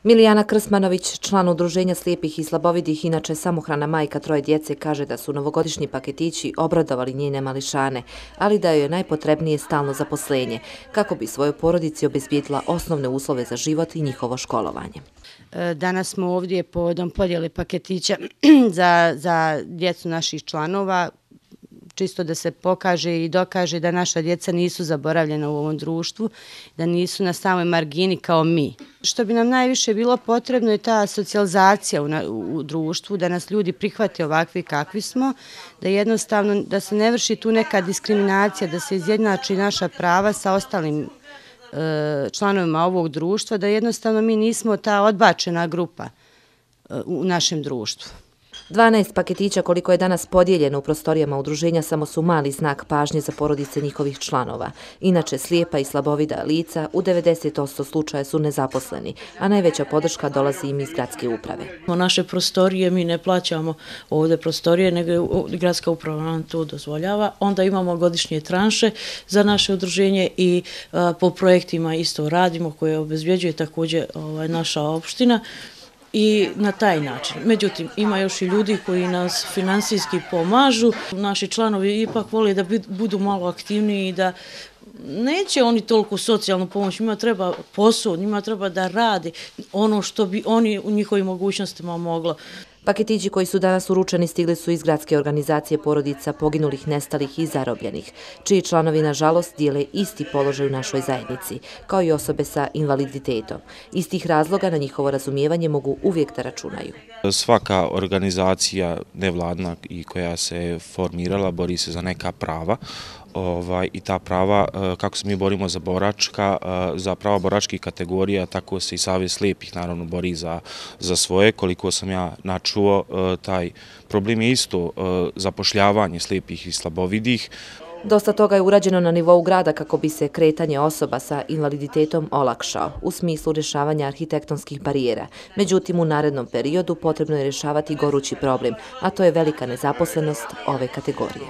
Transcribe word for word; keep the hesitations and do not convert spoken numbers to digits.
Milijana Krsmanović, član Udruženja slijepih i slabovidih, inače samohrana majka troje djece, kaže da su novogodišnji paketići obradovali njene mališane, ali da joj je najpotrebnije stalno zaposlenje, kako bi svojoj porodici obezbijedila osnovne uslove za život i njihovo školovanje. Danas smo ovdje povodom podjele paketića za, za djecu naših članova, čisto da se pokaže i dokaže da naša djeca nisu zaboravljena u ovom društvu, da nisu na samoj margini kao mi. Što bi nam najviše bilo potrebno je ta socijalizacija u, u društvu, da nas ljudi prihvate ovakvi kakvi smo, da jednostavno da se ne vrši tu neka diskriminacija, da se izjednači naša prava sa ostalim e, članovima ovog društva, da jednostavno mi nismo ta odbačena grupa e, u našem društvu. dvanaest paketića koliko je danas podijeljeno u prostorijama udruženja samo su mali znak pažnje za porodice njihovih članova. Inače, slijepa i slabovida lica u devedeset posto slučaja su nezaposleni, a najveća podrška dolazi im iz gradske uprave. Naše prostorije mi ne plaćamo ovdje prostorije, nego gradska uprava nam to dozvoljava. Onda imamo godišnje tranše za naše udruženje i a, po projektima isto radimo koje obezbjeđuje također ovaj, naša opština. I na taj način. Međutim, ima još i ljudi koji nas finansijski pomažu. Naši članovi ipak vole da budu malo aktivniji i da neće oni toliko socijalnu pomoć, njima treba posao, njima treba da radi ono što bi oni u njihovim mogućnostima moglo. Paketići koji su danas uručeni stigli su iz gradske organizacije porodica poginulih, nestalih i zarobljenih, čiji članovi, nažalost, dijele isti položaj u našoj zajednici, kao i osobe sa invaliditetom. Iz tih razloga na njihovo razumijevanje mogu uvijek da računaju. Svaka organizacija nevladna i koja se formirala bori se za neka prava. Ovaj, i ta prava, kako se mi borimo za boračka, za prava boračkih kategorija, tako se i Savez slijepih naravno bori za, za svoje. Koliko sam ja načuo, taj problem je isto zapošljavanje slijepih i slabovidih. Dosta toga je urađeno na nivou grada kako bi se kretanje osoba sa invaliditetom olakšao, u smislu rješavanja arhitektonskih barijera. Međutim, u narednom periodu potrebno je rješavati gorući problem, a to je velika nezaposlenost ove kategorije.